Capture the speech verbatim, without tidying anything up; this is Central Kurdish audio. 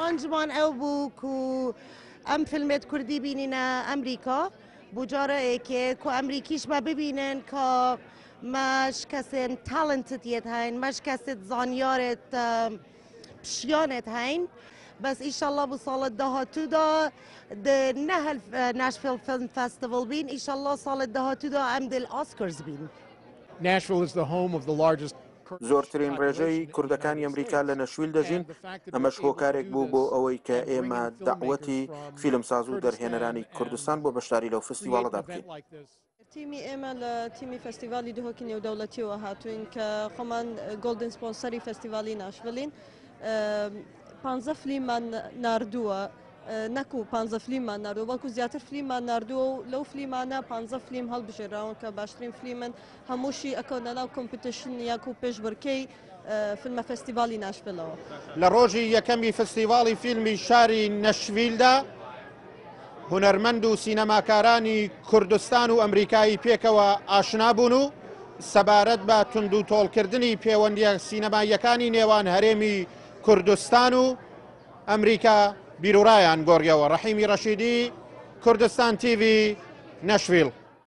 ئامانجمان ئەو بوو کو ئەم فیلمێت کوردی بینینە ئەمریکا بۆ جارەیەکێ کو ئەمریکیش مە ببینن کە مەش کەسێن talented یەت هەین، مەش کەسێت زانیارێت پشیانێت هەین. بەس ئیشەڵڵا بۆ ساڵت داهاتوودا نە Nashville Film Festival بین، ئیشەڵڵا ساڵت داهاتوودا ئەم دل Oscars بین. Nashville is the home of the largest زۆرترین ڕێژەی کوردەکانی ئەمریکا لە نەشویل دەژین، ئەمەش هۆکارێک بوو بۆ ئەوەی کە ئێمە داوەتی فیلمساز و دەرهێنەرانی کوردستان بۆ بەشداری لەو فستیواڵەدا بکەین. تیمی ئێمە لە تیمی فستیڤالی دهۆکی نێودەوڵەتیەوە هاتوین کە خۆمان golden sponsor ی فستیڤالی ناشڤلین. پانزە فلیممان ناردووە، نەکو پانزە فلیممان ناردووە، بەڵکو زیاتر فلیممان ناردووە و لەو فلیمانە پانزە فلیم هەڵبژێراون کە باشترین فلیمن، هەمووشی ئەکەونە ناو competition یاکو پێشبڕکێی فیلمە فستیڤالی ناشڤلەوە. لە ڕۆژی یەکەمی فستیڤاڵی فیلمی شاری نەشڤیلدا هونەرمەند و سینەماکارانی کوردستان و ئەمریکایی پێکەوە ئاشنا بوون و سەبارەت بە تونند و تۆڵکردنی پەیوەندیە سینەماییەکانی نێوان هەرێمی کوردستان و ئەمریکا بیرورایان گۆڕیەوە. ڕەحیمی ڕەشیدی، کوردستان تیڤی، نەشڤیل.